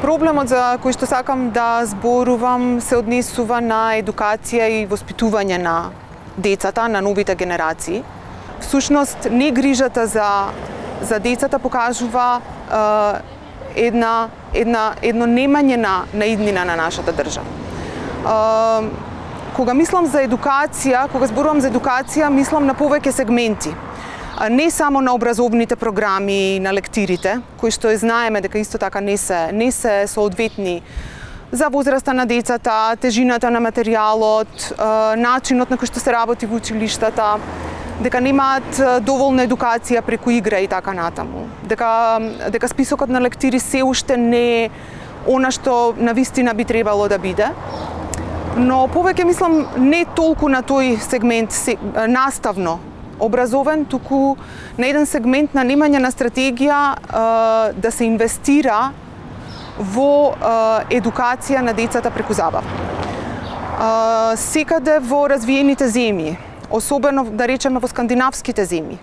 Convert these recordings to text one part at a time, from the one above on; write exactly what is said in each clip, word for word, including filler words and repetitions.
Проблемот за кој што сакам да зборувам се однесува на едукација и воспитување на децата, на новите генерации. Всушност, не грижата за за децата покажува е, една една едно немање на на иднина на нашата држава. Е, кога мислам за едукација, кога зборувам за едукација, мислам на повеќе сегменти. Не само на образовните програми, на лектирите, кои што знаеме дека исто така не се не се соодветни за возраста на децата, тежината на материјалот, начинот на кој што се работи во училиштата, дека немаат доволна едукација преку игра и така натаму. Дека дека списокот на лектири се уште не е она што навистина би требало да биде. Но повеќе мислам не толку на тој сегмент наставно образовен, туку на еден сегмент на немање на стратегија е, да се инвестира во е, едукација на децата преку забава. Е, секаде во развиените земји, особено да речеме во скандинавските земји,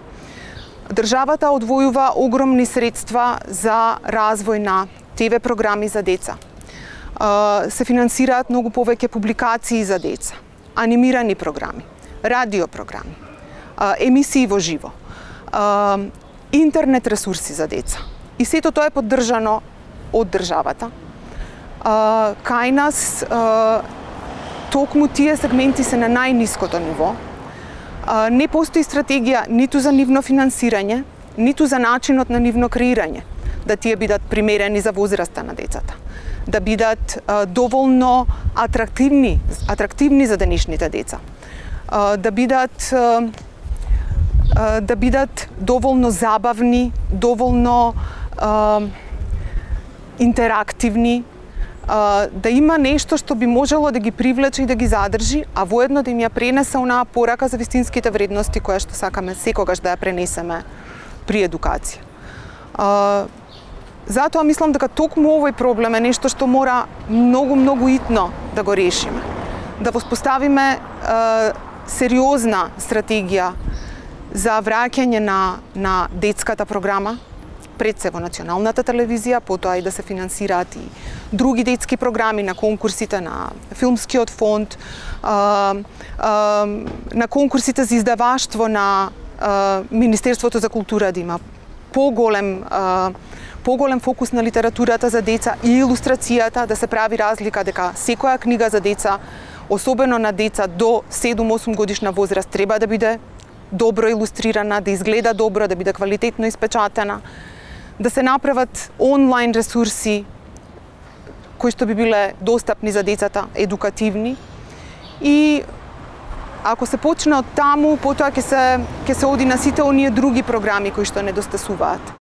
државата одвојува огромни средства за развој на Т В програми за деца. Е, се финансираат многу повеќе публикации за деца, анимирани програми, радио програми, емисии во живо, интернет ресурси за деца. И сето тоа е поддржано од државата. Кај нас токму тие сегменти се на најниското ниво. Не постои стратегија ниту за нивно финансирање, ниту за начинот на нивно креирање, да тие бидат примерени за возраста на децата, да бидат доволно атрактивни, атрактивни за денешните деца, да бидат да бидат доволно забавни, доволно е, интерактивни, е, да има нешто што би можело да ги привлече и да ги задржи, а воедно да им ја пренесе онаа порака за вистинските вредности која што сакаме секогаш да ја пренесеме при едукација. Е, затоа мислам дека токму овој проблем е нешто што мора многу, многу итно да го решиме. Да воспоставиме е, сериозна стратегија за враќање на, на детската програма, пред се во националната телевизија, потоа и да се финансираат и други детски програми на конкурсите на филмскиот фонд, а, а, на конкурсите за издаваштво на а, Министерството за култура да има поголем а, поголем фокус на литературата за деца и илустрацијата, да се прави разлика дека секоја книга за деца, особено на деца до седум-осум годишна возраст, треба да биде добро илустрирана, да изгледа добро, да биде квалитетно испечатена, да се направат онлайн ресурси кои што би биле достапни за децата, едукативни. И ако се почне од таму, потоа ќе се ќе се оди на сите оние други програми кои што недостасуваат.